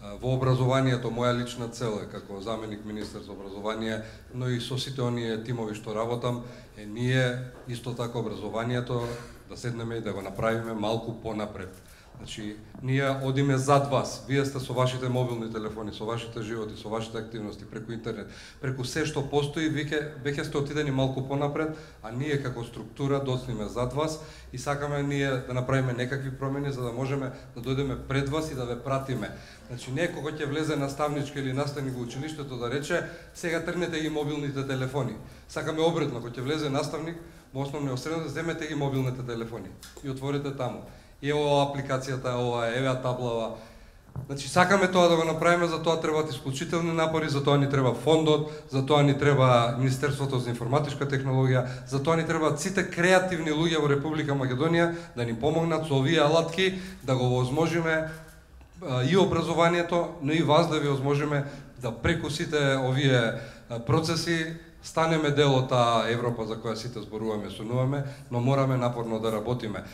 Во образованието, моја лична цел е како заменик министер за образование, но и со сите оние тимови што работам, е ние исто така образованието да седнеме и да го направиме малку понапред. Значи, ние одиме зад вас, вие сте со вашите мобилни телефони, со вашите животи, со вашите активности, преку интернет, преку се што постои, веќе сте отидени малку понапред, а ние како структура доцниме зад вас и сакаме ние да направиме некакви промени за да можеме да дојдеме пред вас и да ве пратиме. Значи, некој кој ќе влезе наставнички или наставник во училиштето да рече, сега тргнете ги мобилните телефони. Сакаме обратно, кој ќе влезе наставник во основниот средно, земете ги мобилните телефони и отворете таму. И ова апликацијата, ова еве таблава. Значи сакаме тоа да го направиме, за тоа требаат исклучителни напори, за тоа ни треба фондот, за тоа ни треба Министерството за информатичка технологија, за тоа ни требаат сите креативни луѓе во Република Македонија да ни помогнат со овие алатки да го возможиме и образованието, но и вас да ви возможиме да преку сите овие процеси станеме дел од таа Европа за која сите зборуваме, сонуваме, но мораме напорно да работиме.